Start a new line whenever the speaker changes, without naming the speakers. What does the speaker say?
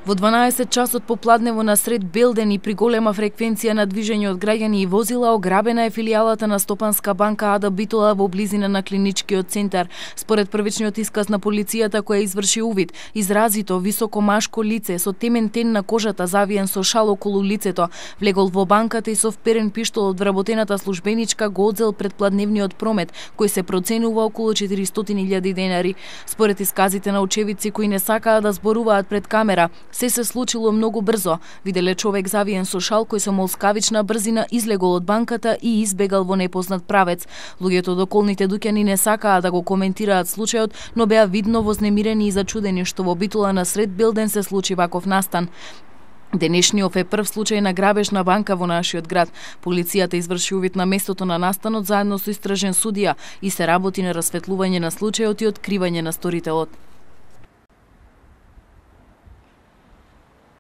Во 12 часот попладнево на сред Белден и при голема фреквенција на движење од граѓани и возила ограбена е филијалата на Стопанска банка Ада Битола во близина на клиничкиот центар. Според првичниот исказ на полицијата која изврши увид, изразито високо машко лице со темен тен на кожата завиен со шал околу лицето, влегол во банката и со вперен пиштол од вработената службеничка го одзел предпладневниот промет, кој се проценува околу 400.000 денари. Според исказите на очевидци кои не сакаат да зборуваат пред камера, се случило многу брзо. Виделе човек завиен со шал кој со молскавична брзина излегол од банката и избегал во непознат правец. Луѓето од околните дуќани не сакаа да го коментираат случајот, но беа видно вознемирени и зачудени што во Битола на сред Белден се случи ваков настан. Денешниот е прв случај на грабеж на банка во нашиот град. Полицијата изврши увид на местото на настанот заедно со истражен судија и се работи на расветлување на случајот и откривање на сторителот.